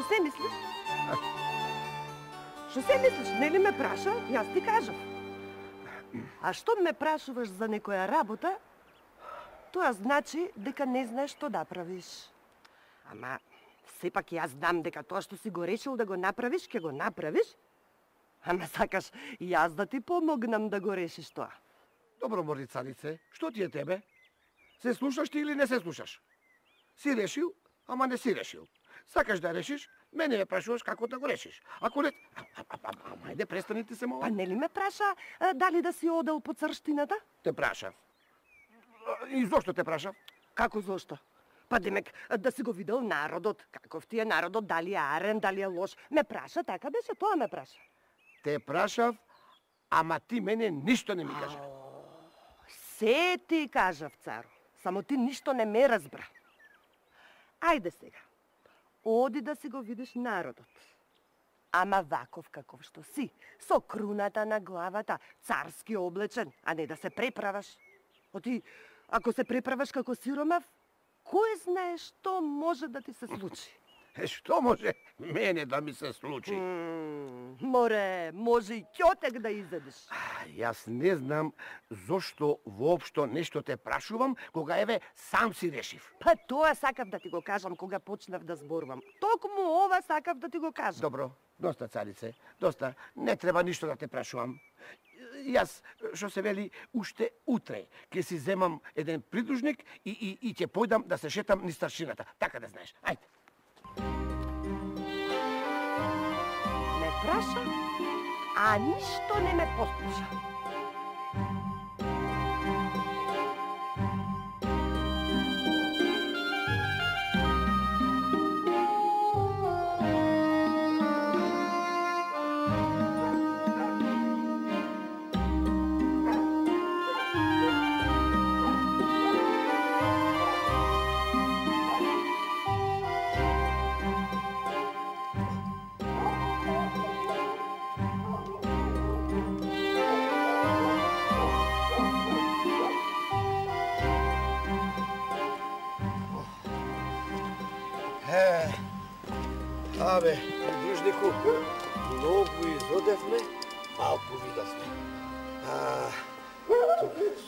се мислиш? Што се мислиш? Нели ме праша? Јас ти кажав. А што ме прашуваш за некоја работа, тоа значи дека не знаеш што да правиш. Ама, сепак јас знам дека тоа што си го решил да го направиш, ќе го направиш. Ама сакаш јас да ти помогнам да го решиш тоа. Добро, Морицанице, што ти е тебе? Се слушаш ти или не се слушаш? Си решил, ама не си решил. Сакаш да решиш, мене ме прашуваш како да го решиш. Ако не... Ама ајде, престани ти се мова. Па нели ме праша дали да си одел по црштината? Те прашав. И зошто те прашав? Како зошто? Па демек да си го видел народот, каков ти е народот, дали е арен, дали е лош. Ме праша, така беше, тоа ме праша. Те прашав, ама ти мене ништо не ми кажа. Се ти кажав, царо, само ти ништо не ме разбра. Ајде сега, оди да си го видиш народот. Ама ваков каков што си, со круната на главата, царски облечен, а не да се преправаш. Оти, ако се преправаш како сиромав, кој знае што може да ти се случи? Што може мене да ми се случи? Море, може и ќотек да изедеш. Јас не знам зошто воопшто нешто те прашувам, кога еве сам си решив. Па тоа сакав да ти го кажам кога почнав да зборувам. Токму ова сакав да ти го кажам. Добро, доста, царице, доста. Не треба ништо да те прашувам. Јас, што се вели, уште утре ќе си земам еден придружник и ќе појдам да се шетам низ старшината. Така да знаеш. Ајде. Ме праша, а ништо не ме послуша. Абе, придружнику, многу изодевме, малку видовме.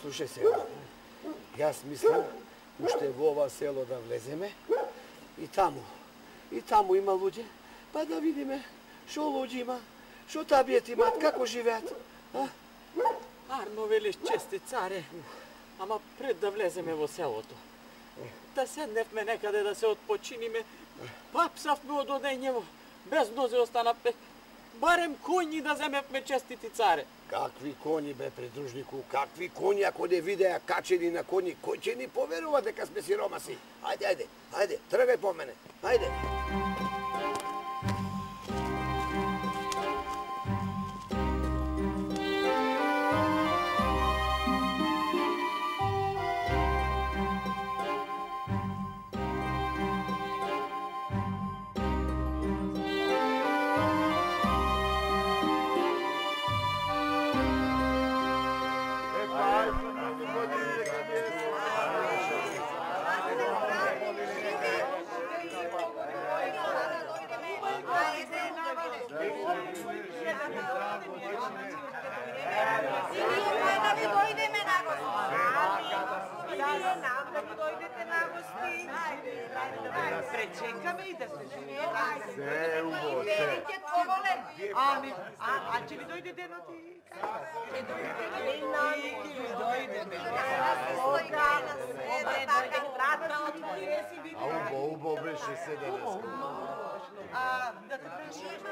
Слушај сега, јас мислам уште во ова село да влеземе и таму има луѓе, па да видиме шо луѓе има, шо табиет имат, како живеат. Арно велиш, чести царе, ама пред да влеземе во селото, да седневме некаде да се отпочиниме, папсавме од одењево, без нозе останавме, барем коњи да земевме, честити царе. Какви коњи, бе, придружнику, какви коњи, ако не видеа качени на коњи, кој ќе ни поверува дека сме сиромаси? Ајде, тргај по мене, ајде. Пречекаме и да се живее. Се убаво, се. Ами, а ќе ви дојде денот и како? Ќе дојде. Убаво беше се денес. Да те пречекаме.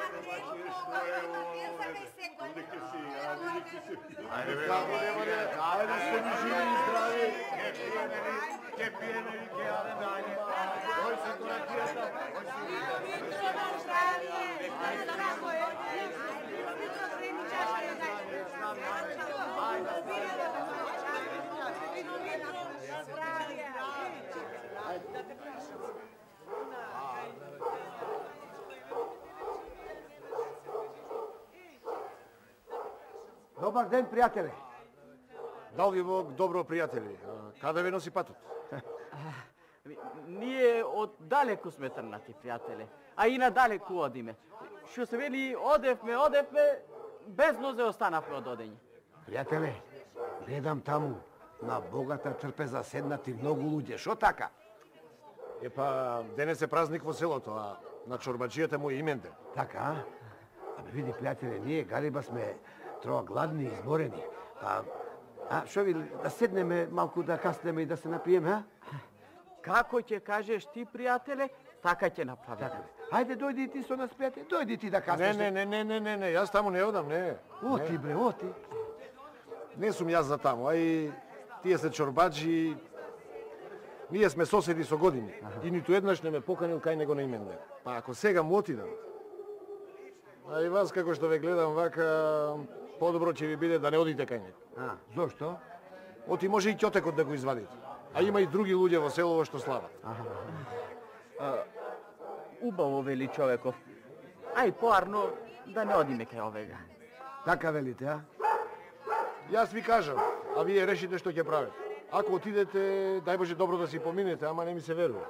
Ајде сте ми живи и здрави. Ке пиеме и ке јадеме, ајде. Кој се кулакијата? Добар ден, пријателе. Дал ви Бог добро, пријатели. Каде ви носи патот? ние од далеку сме трнати, пријателе, а и надалеку одиме. Што се вели, одевме, без нозе останавме од одење. Пријателе, гледам таму, на богата трпеза седнати многу луѓе. Шо така? Епа, денес е празник во селото, а на чорбаджијата му е именден. Така, а? Абе, види, пријателе, ние Галиба сме троа гладни и изморени. Шо ви, да седнеме малку да каснеме и да се напиеме, а? Како ќе кажеш ти, пријателе, така ќе направиме. Ајде, дојди ти со нас, пријателе, дојди ти да каснеш. Не, јас таму не одам, не. Оти, бре, оти. Не сум јас за таму, а и тие се чорбаджи. Ние сме соседи со години и ниту еднаш не ме поканил кај него на именден. Па ако сега му отидам, а и вас како што ве гледам вака, подобро ќе ви биде да не одите кај него. Зошто? Оти може и ќотекот да го извадите. А има и други луѓе во селово што слават. Убаво вели човеков. Ај поарно да не одиме кај овега. Така велите, а? Јас ви кажам, а вие решите што ќе правите. Ако отидете, дај Боже добро да си поминете, ама не ми се верува.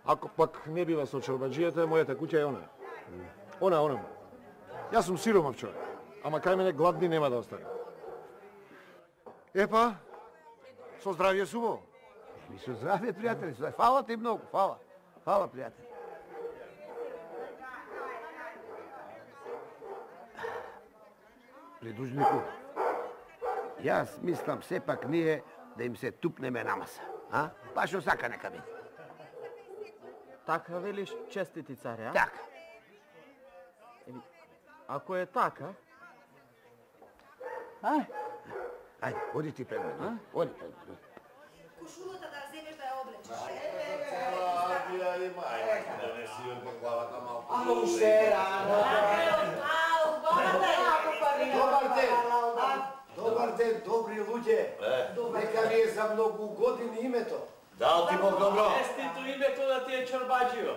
Ако пак не бива со чорбаджијата, мојата куќа е она. Она. Јас сум сиромав човек, ама кај мене гладни нема да остане. Епа, со здравје сумо. Ми со здравје, пријатели, со здравје. Фала ти многу, фала. Фала, пријатели. Придужнику, јас мислам сепак ние да им се тупнеме на маса. А? Па што сака нека биде. Така велиш, честити царе, а? Така. Ако е така... Ајде, оди ти пред мене. Оди пред мене. Кошулата да земеш да ја облечеш. Ало уште рано. Добар ден, добри луѓе. Нека ви е за многу години името. Дал ти Бог добро. Честито името да ти е чорбаджио.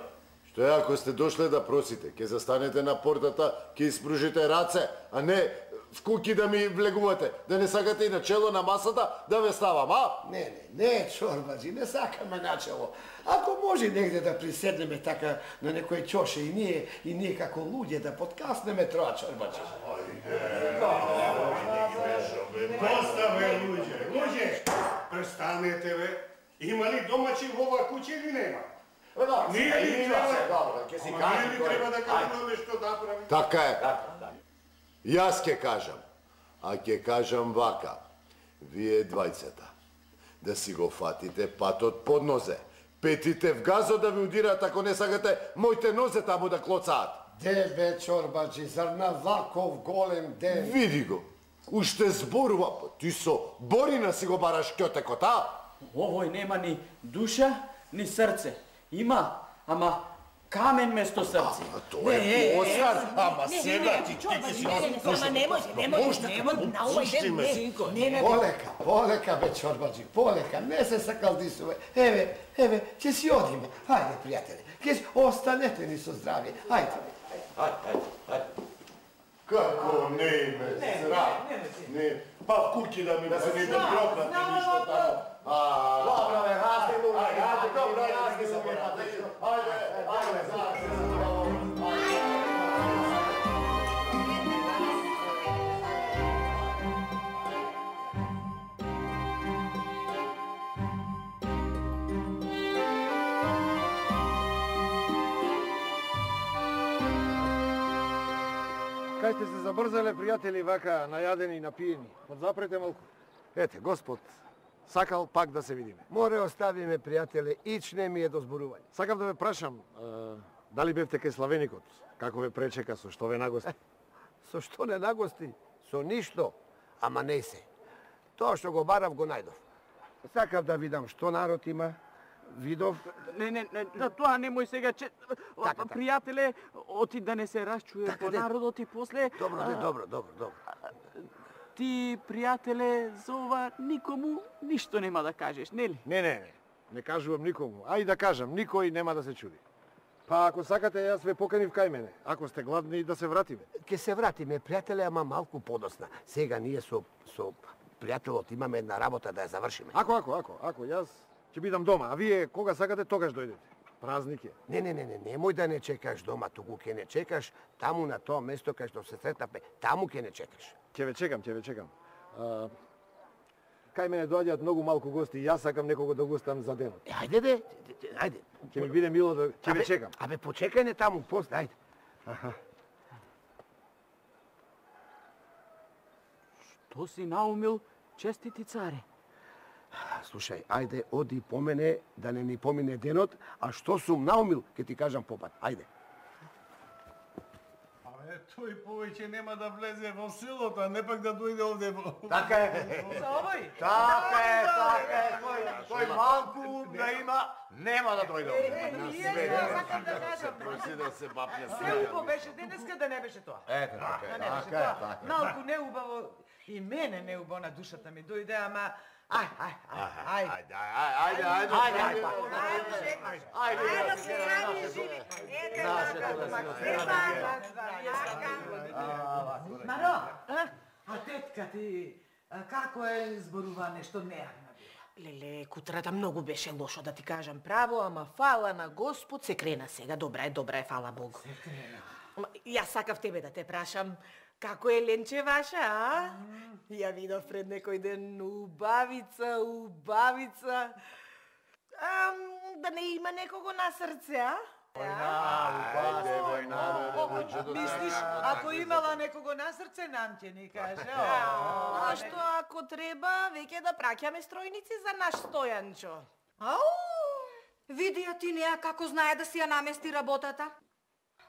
Што е, ако сте дошле да просите, ќе застанете на портата, ќе испружите раце, а не в куки да ми влегувате, да не сакате и на чело на масата да ве ставам, а? Не, чорбаджи, не сакаме начело. Ако може негде да приседнеме така на некој чоше и ние како луѓе да подкаснеме троа чорбаджи. Доста бе, луѓе, престанете бе. Има ли домачи во ова куќа или нема? Ние ли треба да кажуваме што да правиме? Така е. Јас ќе кажам, а ќе кажам вака. Вие двајцата, да си го фатите патот под нозе. Петите в газо да ви удират ако не сакате моите нозе таму да клоцаат. Де бе, чорбаджи, зар на ваков голем ден? Види го, уште зборува, ти со Борина си го бараш ќотекот, а? Овој нема ни душа, ни срце. Има, ама камен место срце. Тоа е Оскар, ама сега ти си... Не може, на овој ден. Полека, бе, чорбаджи, полека, не се сакалдисуве. Еве, ќе си одиме. Ајде, пријатели, останете ни со здравје. Ајде. Како не име, срам. Па в куки да ми се не прокнати ништо таму. Добро, бе, расти, Кај сте се забрзале, пријатели, вака најадени и напиени? Подзапрете малку. Ете, Господ сакал пак да се видиме. Море оставиме, пријателе, ич не ми е до зборување. Сакам да ве прашам, дали бевте кај Славеникот? Како ве пречека, со што ве нагости? Со што не нагости? Со ништо, ама не се. Тоа што го барав, го најдов. Сакав да видам што народ има, видов... Не, тоа немој сега, Така. пријателе, оти да не се расчуе по народот и после... Добро. Ти, пријателе, за ова никому ништо нема да кажеш, нели? Не кажувам никому. А и да кажам, никој нема да се чуди. Па ако сакате, јас ве поканив кај мене. Ако сте гладни, да се вратиме. Ке се вратиме, пријателе, ама малку подосна. Сега ние со пријателот имаме една работа да ја завршиме. Ако, јас Ќе бидам дома, а вие кога сакате тогаш дојдете. Празник е. Не, немој да не чекаш дома, туку ќе не чекаш таму на тоа место кај што се сретнавме, таму ќе не чекаш. Ќе ве чекам. Кај мене доаѓаат многу малку гости и јас сакам некого да гостам за денот. Ајде. Ќе ми биде мило да ќе ве чекам. Абе, почекај не таму, после, ајде. Што си наумил, честити царе? Слушај, ајде, оди по мене, да не ни помине денот, а што сум наумил, ќе ти кажам попат. Ајде. Тој повеќе нема да влезе во селото, а не пак да дојде овде во... Така е. За овој? Така е. Тој малку да има, нема да дојде овде. Сакам да кажам. Проси да се бапне Неубаво беше денеска да не беше тоа. Ето, Да не беше тоа. Малку неубаво и мене неубаво на душата ми дојде, ама ајде. Ајде, се ради живи. Маро, а тетка ти, како е зборува нешто нејавна била? Леле, кутрата многу беше лошо, да ти кажам право, ама фала на Господ се крена сега. Добра е, фала Богу. Се крена. Јас сакав тебе да те прашам, како е Ленче ваша, а? Ја видов пред некој ден убавица. Да не има некого на срце, а? Мислиш, ако имала некого на срце, нам ќе ни каже. А што ако треба, веќе да праќаме стројници за наш Стојанчо? Ау! Види ја ти неа како знае да си ја намести работата.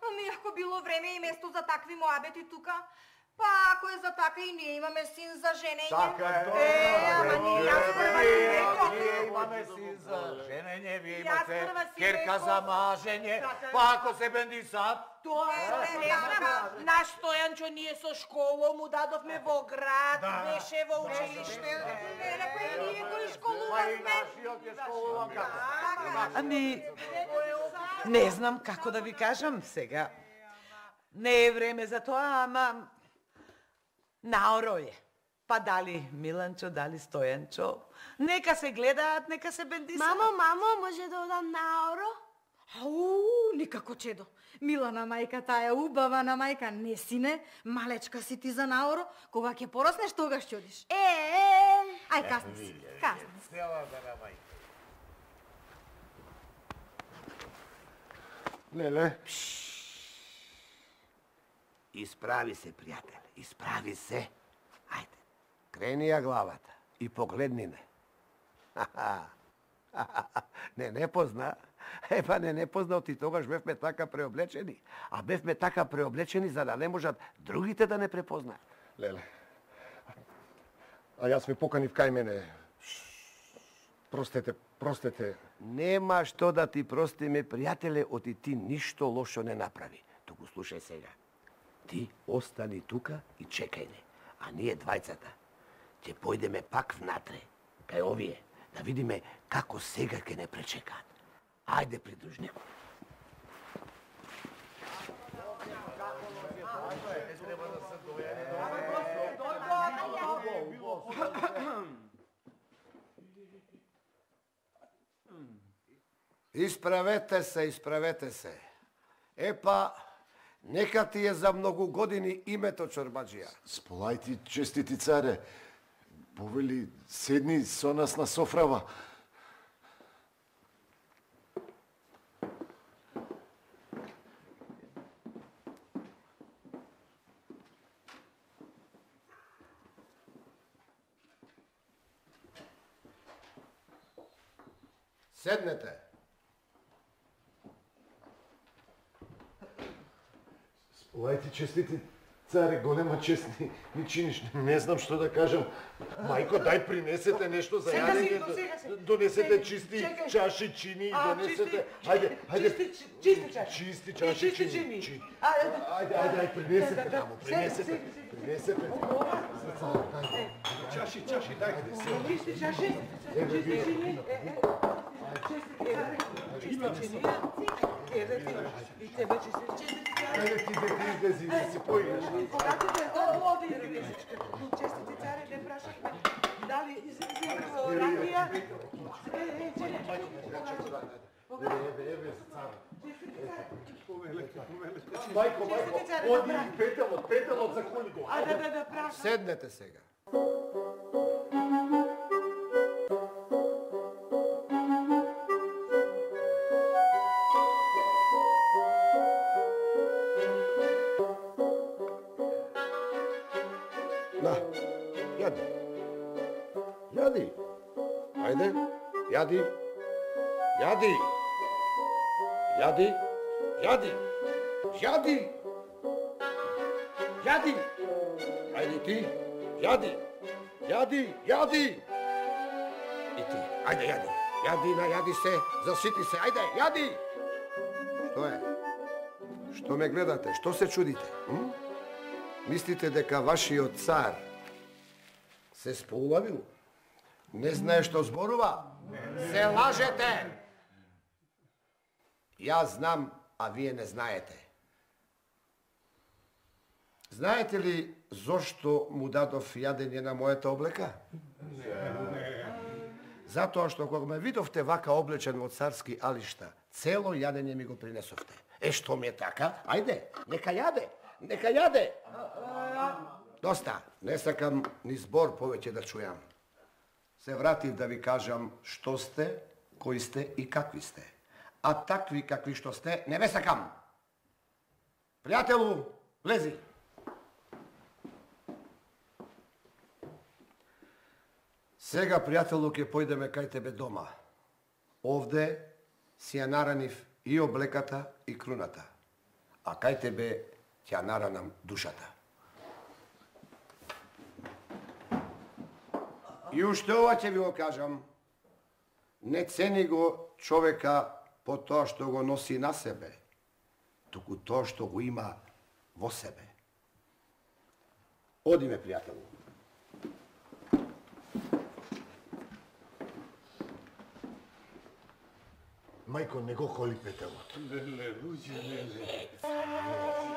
Ами ако било време и место за такви моабети тука, па ако е за така и ние имаме син за женење. Така е. Ама јас прва ти реков. Ние имаме син за женење, вие Јас имате прва си керка реков. за мажење, па ако се бендисат, Тоа е наш Стојанчо, ние со школа му дадовме во град, беше во училиште. Рекој, ние го па и школувавме. нашиот е школуван како. Ами, не знам како да ви кажам сега. Не е време за тоа, ама наоро е. Па дали Миланчо, дали Стојанчо. Нека се гледаат, нека се бендисаат. Мамо, може да одам наоро? Ау, никако чедо. Милана мајка, таа убава на мајка, не сине, малечка си ти за наоро, кога ќе пораснеш, тогаш ќе одиш. Ај, касни си. Леле, Исправи се, пријател, исправи се. Ајде, крени ја главата и погледни не. Не позна. Епа не познал, ти тогаш бевме така преоблечени. А бевме така преоблечени за да не можат другите да не препознаат. леле. А јас ве поканив кај мене. Простете. Нема што да ти простиме, пријателе, оти ти ништо лошо не направи. Туку слушај сега. Ти остани тука и чекај не. А ние двајцата ќе појдеме пак внатре, кај овие, да видиме како сега ќе не пречекаат. Ајде, придружнику. Исправете се. Епа, нека ти е за многу години името Чорбаџија. Сполајте, честити царе, повели, седни со нас на софрава. Седнете. Сполајте, честити царе, голема чест ми чиниш. Не знам што да кажам. Мајко, дај принесете нешто за јадење. Донесете чисти чаши, чини, донесете. Ајде. Чисти чаши, чини. Ајде, принесете таму, принесете. Чаши, дајте се. Чисти чаши, чисти чини. И тебе чисти. Ајде ти излези, да си поиграш. Честити царе, не прашавме дали ракија? Мајко, оди петелот за коли го. Да, прашам. Седнете сега. На, јади. Јади. Ајде, јади. Јади. Јади. Јади. Јади. Јади. Ајде ти. Јади. Јади. Јади. И ти. Ајде, јади. Јади, најади се. Засити се. Ајде, јади. Што е? Што ме гледате? Што се чудите? Мислите дека вашиот цар се сполавил? Не знае што зборува? Се лажете! Јас знам, а вие не знаете. Знаете ли зошто му дадов јадење на мојата облека? Затоа што кога ме видовте вака облечен во царски алишта, цело јадење ми го принесовте. Што ми е така? Ајде, нека јаде, нека јаде. Доста, не сакам ни збор повеќе да чујам. Се вратив да ви кажам што сте, кои сте и какви сте. А такви какви што сте, не ве сакам. Пријателу, влези. Сега, пријателу, ќе појдеме кај тебе дома. Овде си ја наранив и облеката и круната. А кај тебе ќе ја наранам душата. И уште ова ќе ви го кажам. Не цени го човека по тоа што го носи на себе, туку тоа што го има во себе. Одиме, пријателу. Мајко, не го коли петелот. Леле, луѓе, леле.